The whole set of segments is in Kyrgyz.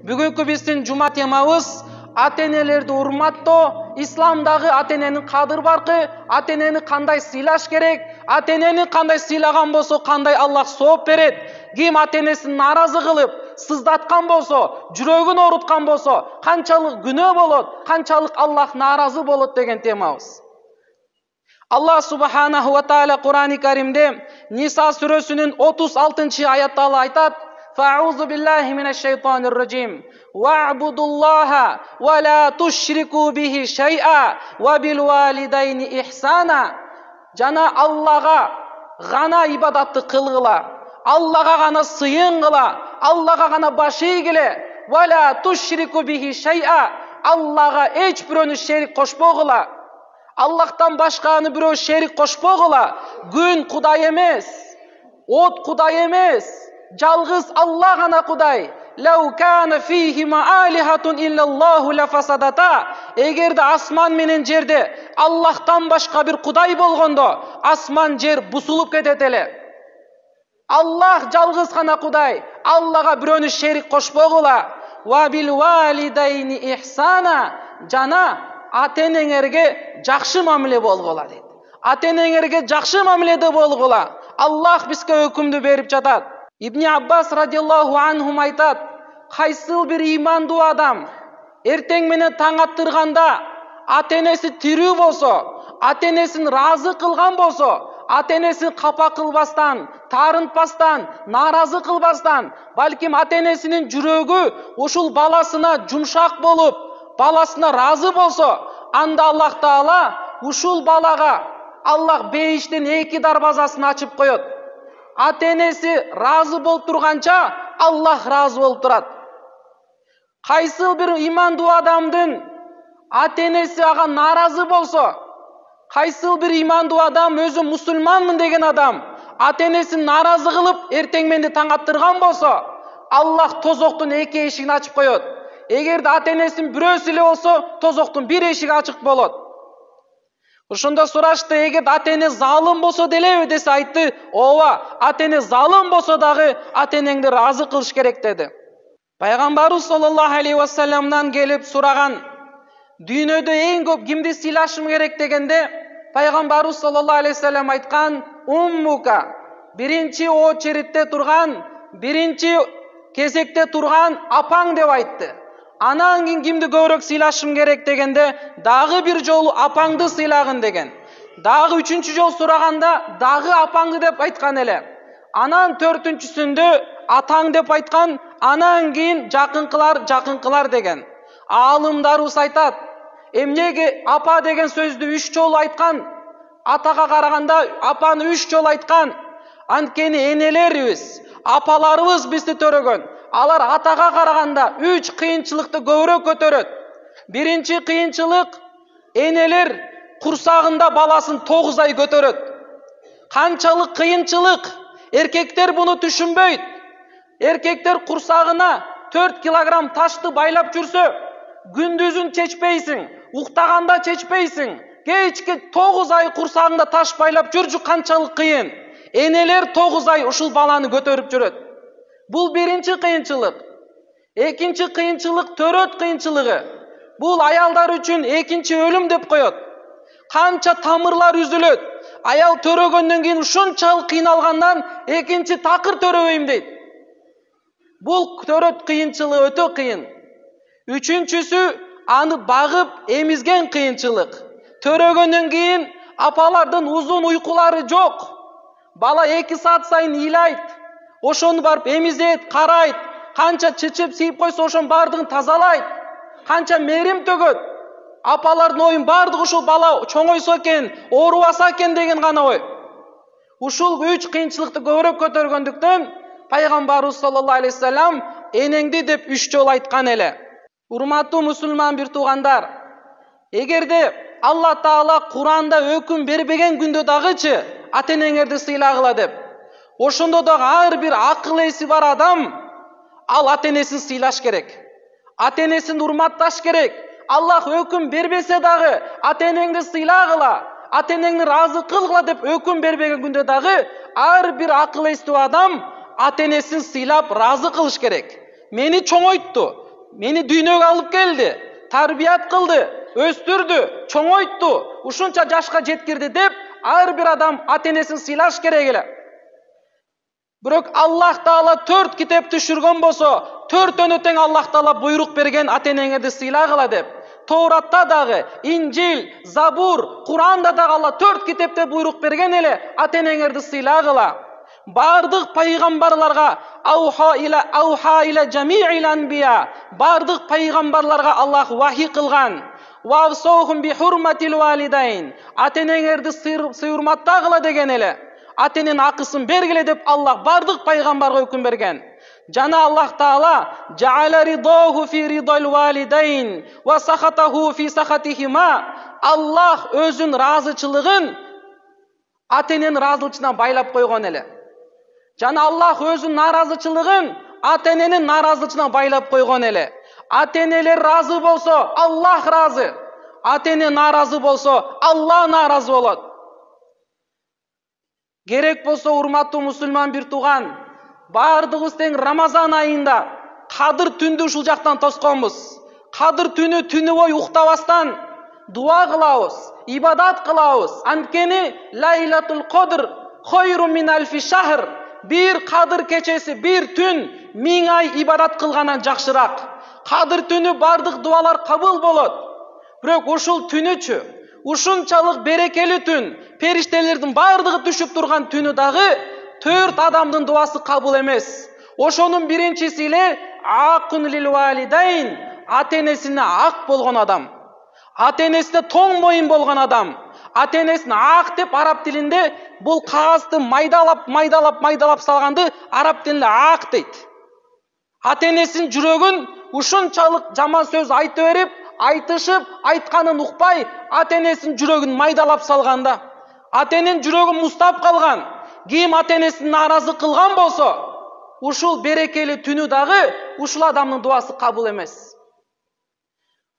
Бүгүнкү биздин жума темабыз ата-энелерди урматтоо, исламдагы ата-эненин кадыр баркы, ата-энени кандай сыйлаш керек, ата-энени кандай сыйлаган болсо кандай Аллах сооп берет, ким ата-энесин нааразы кылып, сыздаткан болсо, жүрөгүн ооруткан болсо, канчалык күнөө болот, канчалык Аллах нааразы болот деген темабыз. Аллах субханаху ва тааля Кур'ани Каримде Ниса сүрөсүнүн 36-аятта айтат: Фа'узу биллахи минаш-шайтанир раджим. Вa'будуллаха ва ла тушрику бихи шай'a ва бил валидайни ихсана. Жана Аллага гана ибадатты кылгыла, Аллага гана сыйынгыла, Аллага гана баш ийгиле. Ва ла тушрику бихи шай'a. Аллага эч бирөөнү шерик кошпогула. Аллахтан башканы бирөө шерик кошпогула. Күн Кудай эмес, от Кудай эмес, жалгыз Аллах гана Кудай. Лау кана фихима алихатун иллаллаху лафасадата. Эгерде асман менен жерде Аллахтан башка бир Кудай болгондо, асман жер бусулуп кетет эле. Аллах жалгыз гана Кудай. Аллага бирөөнү шерик кошпогула. Ва бил валидайни ихсана. Жана ата-энеңерге жакшы мамиле болгула дейт. Ата-энеңерге жакшы мамиледе болгула. Аллах бизге өкүмдү берип жатат. Ибн Аббас радиаллаху анхум айтат: кайсыл бир ыймандуу адам эртең менен таң аттырганда ата-энеси тирүү болсо, ата-энесин ыраазы кылган болсо, ата-энесин капа кылбастан, таарынтпастан, нааразы кылбастан, балким ата-энесинин жүрөгү ушул баласына жумшак болуп, баласына ыраазы болсо, анда Аллах Таала ушул балага Аллах бейиштин 2 дарбазасын ачып коет. Ата-энеси ыраазы болуп турганча Аллах ыраазы болуп турат. Кайсыл бир ыймандуу адамдын ата-энеси ага нааразы болсо, кайсыл бир ыймандуу адам, өзү мусулманмын деген адам, ата-энесин нааразы кылып эртең менде таң аттырган болсо, Аллах тозоктун 2 эшигин ачып коет. Эгерде ата-энесин бирөөсү эле болсо, тозоктун 1 эшиги ачык болот. Ошондо сурашты, эгерде ата-эне залым болсо делеби десе, айтты: ооба, ата-эне залым болсо дагы ата-энеңди ыраазы кылыш керек деди. Пайгамбарыбыз саллаллаху алейхи ва салламдан келип сураган: дүйнөдө эң көп кимди сыйлашым керек дегенде, Пайгамбарыбыз саллаллаху алейхи ва саллям айткан: уммука. Биринчи очередте турган, биринчи кезекте турган апаң деп айтты. Анан кийин кимди көбүрөөк сыйлашым керек дегенде, дагы бир жолу апаңды сыйлагын деген. Дагы 3-чү жол сураганда, дагы апаңды деп айткан эле. Анан 4-чүсүндө атаң деп айткан, анан кийин жакынкылар деген. Аалымдарыбыз айтат, эмнеге апа деген сөздү 3 жолу айткан? Атага караганда апаны 3 жолу айткан. Анткени энелерибиз, апаларыбыз бизди төрөгөн. Алар атага караганда 3 кыйынчылыкты көбүрөөк көтөрөт. Биринчи кыйынчылык, энелер курсагында баласын 9 ай көтөрөт. Канчалык кыйынчылык, эркектер буну түшүнбөйт. Эркектер курсагына 4 килограмм ташты байлап жүрсө, күндүзүн чечпейсиң, уктаганда чечпейсиң. Кечке 9 ай курсагында таш байлап жүрчү, канчалык кыйын. Энелер 9 ай ушул баланы көтөрүп жүрөт. Бул биринчи кыйынчылык. Экинчи кыйынчылык төрөт кыйынчылыгы. Бул аялдар үчүн экинчи өлүм деп коет. Канча тамырлар үзүлөт. Аял төрөгөндөн кийин ушунчалык кыйналгандан экинчи такыр төрөбөйм дейт. Бул төрөт кыйынчылыгы өтө кыйын. Үчүнчүсү аны багып эмизген кыйынчылык. Төрөгөндөн кийин апалардын узун уйкулары жок. Бала 2 саат сайын ыйлайт. Ошону барып эмизет, карайт. Канча чычып сийип койсо ошонун бардыгын тазалайт. Канча мээрим төгөт. Апалардын оюн бардыгы ушул бала чоңойсо экен, оорубаса экен деген гана ой. Ушул 3 кыйынчылыкты көбүрөөк көтөргөндүктөн Пайгамбарыбыз саллаллаху алейхи ва саллям энеңди деп 3 жолу айткан эле. Урматтуу мусулман бир туугандар, эгерде Алла Таала Куранда өкүм бербеген күндө дагычы ата-энеңерди сыйлагыла деп, ошондо дагы ар бир акыл эси бар адам ал ата-энесин сыйлаш керек. Ата-энесин урматташ керек. Аллах өкүм бербесе дагы ата-энеңди сыйлагыла, ата-энеңди ыраазы кылгыла деп өкүм бербеген күндө дагы ар бир акыл эстүү адам ата-энесин сыйлап ыраазы кылыш керек. Мени чоңойтту, мени дүйнөгө алып келди, тарбият кылды, өстүрдү, чоңойтtu, ушунча жашка жеткирди деп ар бир адам ата-энесин сыйлаш керек эле. Бирок Аллах Таала 4 китеп түшүргөн болсо, 4-төнө тең Аллах Таала буйрук берген ата-энеңерди сыйлагыла деп. Тауратта дагы, Инжил, Забур, Куранда дагы Алла 4 китепте буйрук берген эле ата-энеңерди сыйлагыла. Бардык пайгамбарларга ауха иля жамиил анбия, бардык пайгамбарларга Аллах вахи кылган. Вавсохум би хурматил валидайн, ата-энеңерди урматтагыла деген эле. Ата-эненин акысын бергиле деп Аллах бардык пайгамбарга өкүм берген. Жана Аллах Таала жаала ридоху фи ридал валидайн ва сахатаху фи сахатихима. Аллах өзүнүн ыраазычылыгын ата-эненин ыраазычылыгына байлап койгон эле. Жана Аллах өзүнүн наразычылыгын ата-эненин наразычылыгына байлап койгон эле. Ата-энелер разы болсо, Аллах разы. Ата-эне наразы болсо, Аллах наразы болот. Керек болсо, урматтуу мусулман бир тууган, бардыгыбыз тең Рамазан айында Кадыр түндү ушул жактан тосконбуз. Кадыр түнү бою уктабастан дуа кылабыз, ибадат кылабыз. Анткени Лайлатул Кадр хойрун мин альфи шахр. Bir Кадыр кечеси, bir түн 1000 ай ибадат кылгандан жакшыраак. Кадыр түнү бардык дуалар кабыл болот. Бирок ушул түнүчү, ушунчалык берекелүү түн, периштелердин бардыгы түшүп турган түнү дагы 4 адамдын дуасы кабыл эмес. Ошонун биринчиси эле акун лил валидайн, ата-энесине ак болгон адам. Ата-энесине тоң моюн болгон адам. Ата-энесин ак деп араб тилинде бул кагазды майдалап салганды араб тилинде ак дейт. Ата-энесинин жүрөгүн ушунчалык жаман сөз айта берип, айтышып, айтканын укпай, ата-энесинин жүрөгүн майдалап салганда, ата-эненин жүрөгүн муздап калган, ким ата-энесин наразы кылган болсо, ушул берекелүү түнү дагы ушул адамдын дуасы кабыл эмес.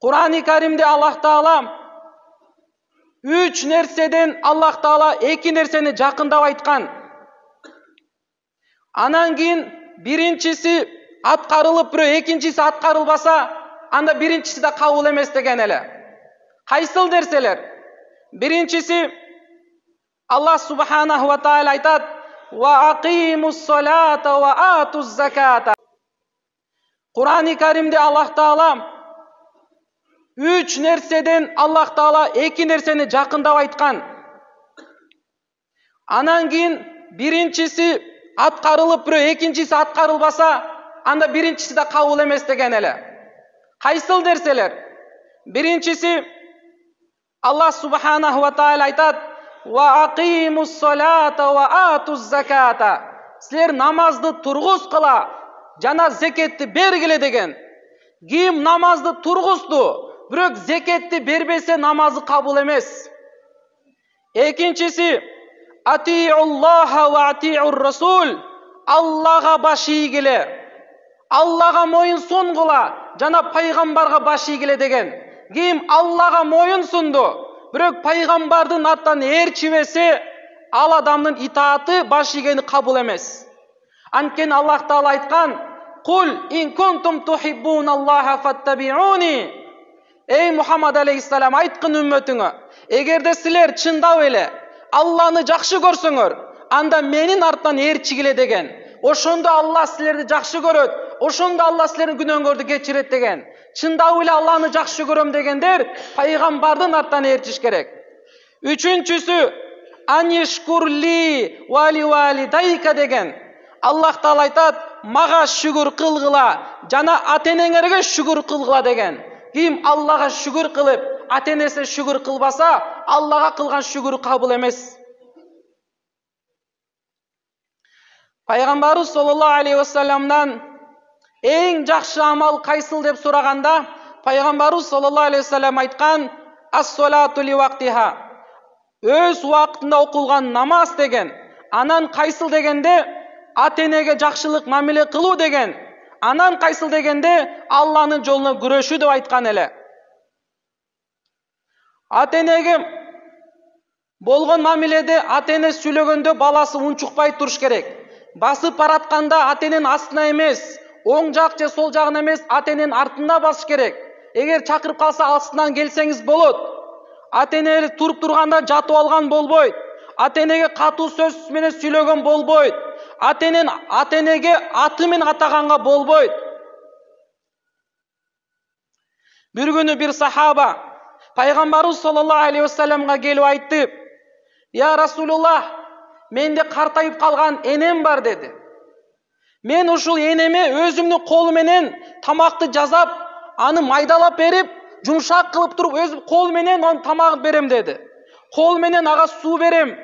Кур'ан-ы Каримде Аллах Таала 3 нерседен Аллах Таала 2 нерсени жакындап айткан. Анан кийин биринчиси аткарылып, бирөө экинчиси аткарылбаса, анда биринчиси да кабыл эмес деген эле. Кайсыл нерселер? Биринчиси Аллах Субханаху ва Тааля айтат: "Ва акимус салата ва атуз заката". Кур'ан-ы Каримде Аллах Таала 3 нерседен Аллах Таала 2 нерсени жакындап айткан. Анан кийин биринчиси аткарылып, бирөө экинчиси аткарылбаса, анда биринчиси да кабыл эмес деген эле. Кайсыл нерселер? Биринчиси Аллах Субханаху ва Тааля айтат: "Ва акимус салата ва атуз заката". Силер намазды тургузгула жана зекетти бергиле деген. Ким намазды тургузду, бирок зекетти бербесе намазы кабыл эмес. Экинчиси атиуллаха ва атиур расул. Аллага баш ийгиле, Аллага моюн сунгула жана пайгамбарга баш ийгиле деген. Ким Аллага моюн сунду, бирок пайгамбардын аттан ээрчибесе, ал адамдын итааты баш ийгени кабыл эмес. Анткени Аллах Таала айткан: "Кул ин кунтум тухиббуналлаха фаттабиуни". Эй Мухаммад алейхиссалам, айткын үммөтүңө: эгерде силер чындап эле Алланы жакшы көрсөңөр, анда менин арттан ээрчигиле деген. Ошондо Аллах силерди жакшы көрөт, ошондо Аллах силердин күнөөңөрдү кечирет деген. Чындап эле Алланы жакшы көрөм дегендер пайгамбардын арттан ээрчиш керек. Үчүнчүсү анишкурли вали валидайка деген. Аллах Таала айтат: "Мага шүгүр кылгыла жана ата-энеңерге шүгүр кылгыла" деген. Ким Аллага шүгүр кылып, ата-энесине шүгүр кылбаса, Аллага кылган шүгүрү кабыл эмес. Пайгамбарыбыз саллаллаху алейхи ва салламдан эң жакшы амал кайсыл деп сураганда, пайгамбарыбыз саллаллаху алейхи ва саллам айткан: "Ас-салату ли вактиха". Өз убактында окулган намаз деген. Анан кайсыл дегенде ата-энеге жакшылык мамиле кылуу деген. Анан кайсыл дегенде Алланын жолуна күрөшүү деп айткан эле. Ата-энеге болгон мамиледе ата-эне сүйлөгөндө баласы унчукпай туруш керек. Басып баратканда ата-эненин астына эмес, оң жак же сол жагын эмес, ата эненин артында басыш керек. Эгер чакырып калса астынан келсеңиз болот. Ата эне туруп турганда жатып алган болбойт. Ата энеге катуу сөз менен сүйлөгөн болбойт. Ата энеге аты менен атаганга болбойт. Bir günü bir sahaba Пайгамбарыбыз саллаллаху алейхи вассаламга келип айтты: "Я Расулуллах, менде картайып калган энем бар" деди. Мен ушул энеме өзүмдүн колу менен тамакты жазап, аны майдалап берип, жумшак кылып туруп, өзүм кол менен анын тамагын берем деди. Кол менен ага суу берем,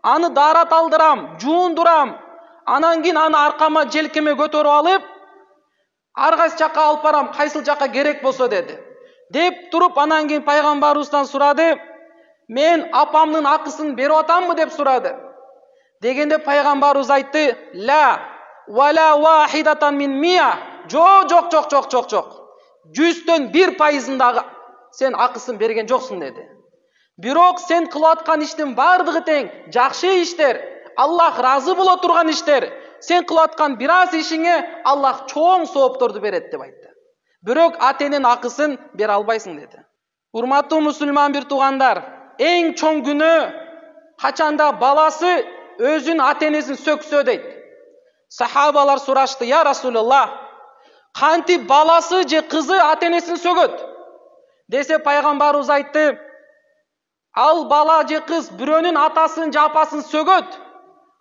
аны даарат алдырам, жуундурам. Анан кийин аны аркама, желкеме көтөрүп алып, ар кайсы жакка алып барам, кайсыл жакка керек болсо деди. Деп туруп, анан кийин пайгамбарыбыздан сурады: "Мен апамдын акысын берип атамбы?" деп сурады. Дегенде пайгамбарыбыз айтты: "Ла вала вахидатан мин мия". Жок. 100% дагы сен акысын берген жоксуң деди. Бирок сен кылып аткан иштин бардыгы тең, жакшы иштер, Аллах разы боло турган иштер. Сен кылып аткан бир аз ишиңе Аллах чоң соопторду берет деп айтты. Бирок ата эненин акысын бере албайсың деди. Урматтуу мусулман бир туугандар, эң чоң күнөө качанда баласы өзүнүн ата энесин сөксө дейт. Сахабалар сурашты: "Я Расулуллах, кантип баласы же кызы ата энесин сөгөт?" Десе пайгамбарыбыз айтты: "Ал бала же кыз бирөөнүн атасын же апасын сөгөт,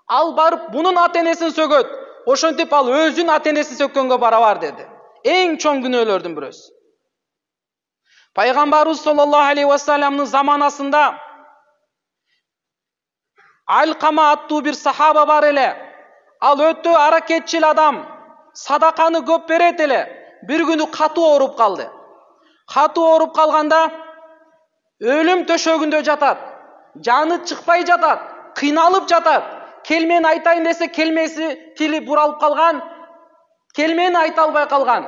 ал барып бунун ата энесин сөгөт. Ошентип ал өзүнүн ата энесин сөккөнгө барабар" деди. Эң чоң күнөөлөрдүн бирөөсү. Пайгамбарыбыз саллаллаху алейхи вассаламдын заманасында Алкама аттуу бир сахаба бар эле. Ал өтө аракетчил адам, садаканы көп берет эле. Bir күнү катуу ооруп калды. Катуу ооруп калганда өлүм төшөгүндө жатат. Жаны чыкпай жатат, кыйналып жатат. Келмени айтайын десе, келмеси тили буралып калган, келмени айта албай калган.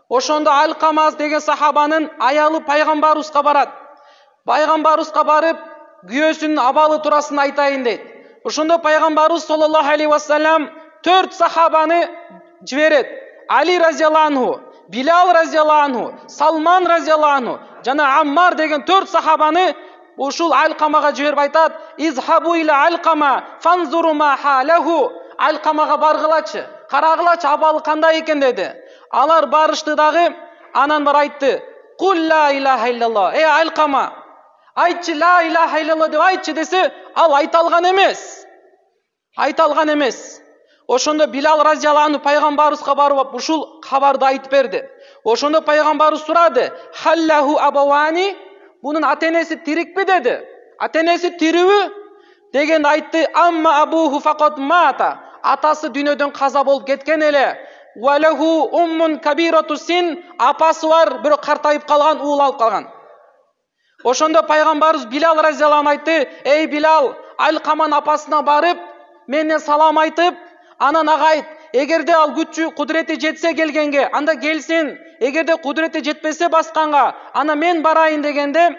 Ошондо Алкама деген сахабанын аялы пайгамбарыбызга барат. Пайгамбарыбызга барып, күйөөсүнүн абалы турасын айтайын дейт. Ошондо пайгамбарыбыз саллаллаху алейхи вассалам 4 сахабаны жиберет. Али разияллаху анху, Билал разияллаху анху, Салман разияллаху анху жана Аммар деген 4 сахабаны ушул Алкамага жиберип айтат: "Изхабу иля Алкама фанзуру ма халаху". Алкамага баргылачы, карагылачы, абалы кандай экен деди. Алар барышты дагы, анан бар айтты: "Кул ла илаха иллаллах". Алкама, айтчы, ла илаха иллаллах деп айтчы десе, ал айта алган эмес. Ошондо Билал разияллаху анху пайгамбарыбызга барып ушул кабарды айтып берди. Ошондо пайгамбарыбыз сурады: "Халлаху абавани", бунун ата энеси тирикпи деди. Ата энеси тирүүбү дегенде айтты: "Амма абуху факат мата", атасы дүйнөдөн каза болуп кеткен эле. "Валаху уммун кабирату син", апасы бар, бирок картайып калган, уул алып калган. Ошондо пайгамбарыбыз Билал разияллаху анху айтты: "Эй Билал, Алкаманын апасына барып, менден салам айтып, анан ага айт, эгерде ал күчү, кудурети жетсе келгенге, анда келсин. Эгерде кудурети жетпесе басканга, ана мен барайын" дегенде,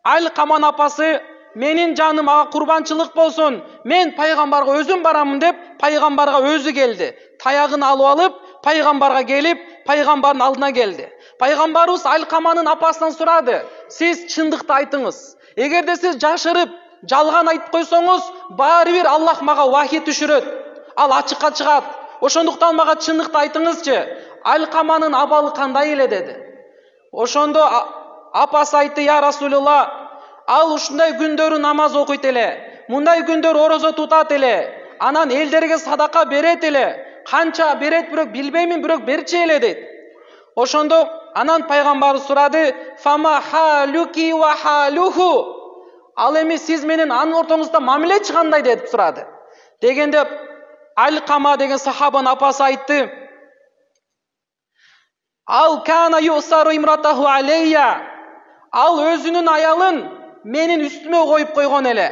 Алкаманын апасы: "Менин жаным ага курбанчылык болсун, мен пайгамбарга өзүм барамын" деп, пайгамбарга өзү келди. Таягын алып алып, пайгамбарга келип, пайгамбардын алдына келди. Пайгамбарыбыз Алкаманын апасынан сурады: "Сиз чындыкты айтыңыз. Эгерде сиз жашырып, жалган айтып койсоңуз, баары бир Аллах мага вахий түшүрөт. Ал ачыкка чыгат. Ошондуктан мага чындыкты айтыңызчы. Алкаманын абалы кандай эле" деди. Ошондо апасы айтты: "Я Расулуллах, ал ушундай күндөрү намаз окуйт эле, мындай күндөр орозо тутат эле, анан элдерге садака берет эле. Канча берет бирок билбеймин, бирок берчи эле" дейт. Ошондо анан пайгамбарыбыз сурады: "Фама халуки ва халуху", ал эми сиз менен анын ортоңузда мамилечи кандай деп сурады. Дегенде Алкама деген сахабанын апасы айтты: "Ал кана юсару имратаху алейя", ал өзүнүн аялын менин үстүмө коюп койгон эле.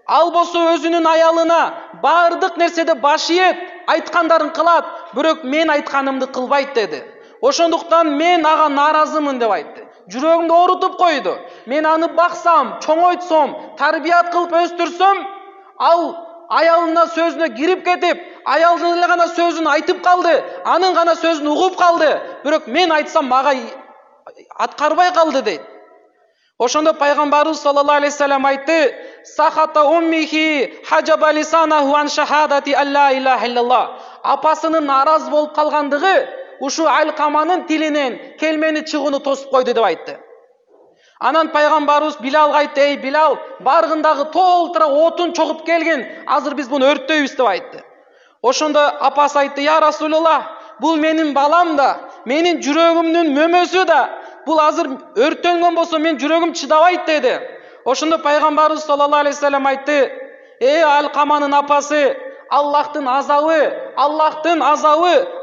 Ал болсо өзүнүн аялына бардык нерседе баш ийет, айткандарын кылат, бирок мен айтканымды кылбайт" деди. "Ошондуктан мен ага нааразымын" деп айтты. Жүрөгүмдү оорутуп койду. Мен аны баксам, чоңойтсом, тарбият кылып өстүрсөм, ал аялына сөзүнө кирип кетип, аялдын эле гана сөзүн айтып калды, анын гана сөзүн угуп калды, бирок мен айтсам мага аткарбай калды дейт. Ошондо пайгамбарыбыз саллаллаху алейхи вассалам айтты: "Сахата уммихи хаджаба лисанаху ан шахадати алла илаха иллаллах." Апасынын наразы болуп калгандыгы ушу Алкаманын тилинен келмени чыгууну тосуп койду деп айтты. Анан пайгамбарыбыз Билалга айтты: "Эй Билал, баргындагы толтура отун чогуп келгин, азыр биз буну өрттөйбүз" деп айтты. Ошондо апасы айтты: "Я Расулуллах, бул менин балам да, менин жүрөгүмдүн мөмөсү да. Бул азыр өрттөнгөн болсо мен жүрөгүм чыдабайт" деди. Ошондо пайгамбарыбыз саллаллаху алейхи вассалам айтты: "Эй Алкаманын апасы, Аллахтын азабы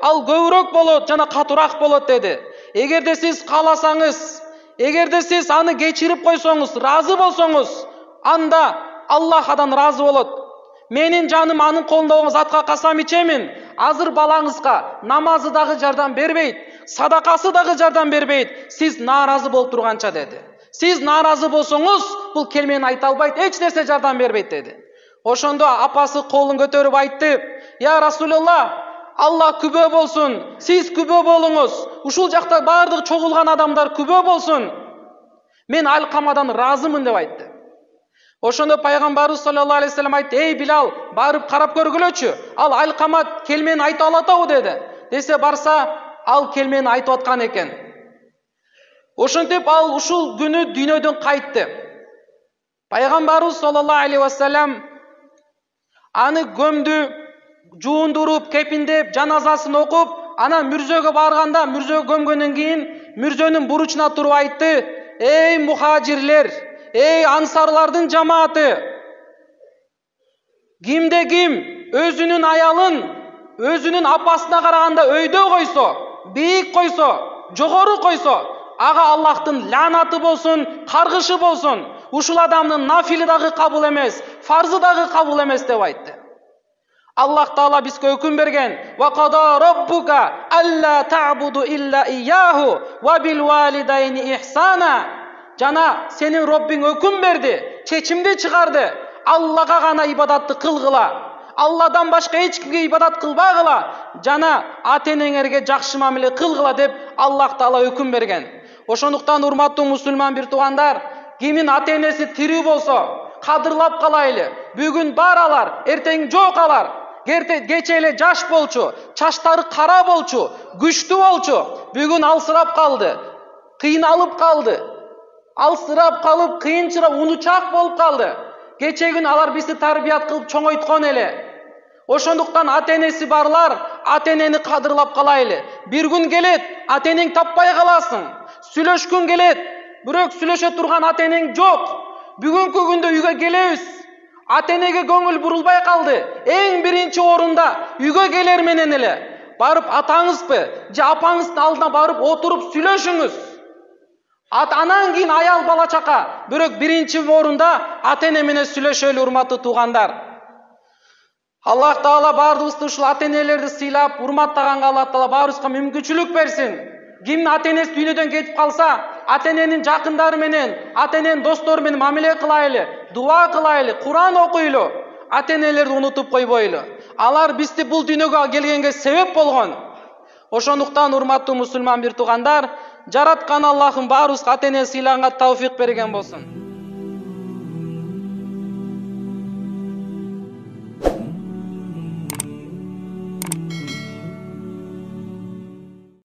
ал көбүрөөк болот жана катуураак болот" деди. Эгерде сиз кааласаңыз, эгерде сиз аны кечирип койсоңуз, разы болсоңуз, анда Аллах адан разы болот. Менин жаным анын колунда затка касам ичемин. Азыр балаңызга намазы дагы жардам бербейт, садакасы дагы жардам бербейт, сиз нааразы болуп турганча деди. Сиз нааразы болсоңуз, бул келмени айта албайт, эч нерсе жардам бербейт деди. Ошондо апасы колун көтөрүп айтты: "Я Расулуллах, Аллах күбө болсун, сиз күбө болуңуз, ушул жакта бардык чогулган адамдар күбө болсун. Мен Алкамадан разымын" деп айтты. Ошондо пайгамбарыбыз саллаллаху алейхи вассалам айтты: "Эй Билал, барып карап көргүлөчү, ал Алкама келмени айта алатабы" деди. Десе барса, ал келмени айтып аткан экен. Ошентип ал ушул күнү дүйнөдөн кайтты. Пайгамбарыбыз саллаллаху алейхи вассалам аны көмдү, жуундуруп, кепиндеп, жаназасын окуп, анан мүрзөгө барганда, мүрзөгө көмгөндөн кийин мүрзөнүн буручуна туруп айтты: "Эй мухажирлер, эй ансарлардын жамааты, ким өзүнүн аялын өзүнүн апасына караганда өйдө койсо, бийик койсо, жогору койсо, ага Аллахтын лаанаты болсун, каргышы болсун. Ушул адамдын нафили дагы кабыл эмес, фарзы дагы кабыл эмес" деп айтты. Аллах Таала бизге өкүм берген: "Ва қада раббука алла та'буду илля ияху ва бил валидайни ихсана." Жана сенин Роббиң өкүм берди, чечимди чыгарды: Аллага гана ибадатты кылгыла, Алладан башка эч кимге ибадат кылбагыла, жана ата-энеңерге жакшы мамиле кылгыла деп Аллах Таала өкүм берген. Ошондуктан урматтуу мусулман бир туугандар, кимин ата-энеси тирүү болсо, кадырлап калайлы. Бүгүн бар алар, эртең жок алар. Кече эле жаш болчу, чачтары кара болчу, күчтүү болчу. Бүгүн алсырап калды, кыйналып калды. Алсырап калып, кыйынчырап, унучак болуп калды. Кече күн алар бизди тарбият кылып чоңойткон эле. Ошондуктан ата-энеси барлар, ата-энени кадырлап калайлы. Бир күн келет, ата-энең таппай каласың. Сүйлөшкүң келет, бирок сүйлөшө турган ата-энең жок. Бүгүнкү күндө үйгө келебиз, ата-энеге көңүл бурулбай калды. Эң биринчи орунда үйгө келер менен эле барып атаңызбы же апаңыздын алдына барып отуруп сүйлөшүңүз. Анан кийин аял бала чака, бирок биринчи орунда ата-эне менен сүйлөшөлү, урматтуу туугандар. Аллах Таала баарыбызды ушул ата-энелерди сыйлап, урматтаганга Аллах Таала баарыбызга мүмкүнчүлүк берсин. Ким ата-энеси дүйнөдөн кетип калса, ата-эненин жакындары менен, ата-эненин достору менен мамиле кылайлы, дуа кылайлы, Куран окуйлу, ата-энелерди унутуп койбойлу. Алар бизди бул дүйнөгө келгенге себеп болгон. Ошондуктан урматтуу мусулман бир туугандар, жараткан Аллахым баарыбызга ата-эне сыйлаганга тавфик берген болсун.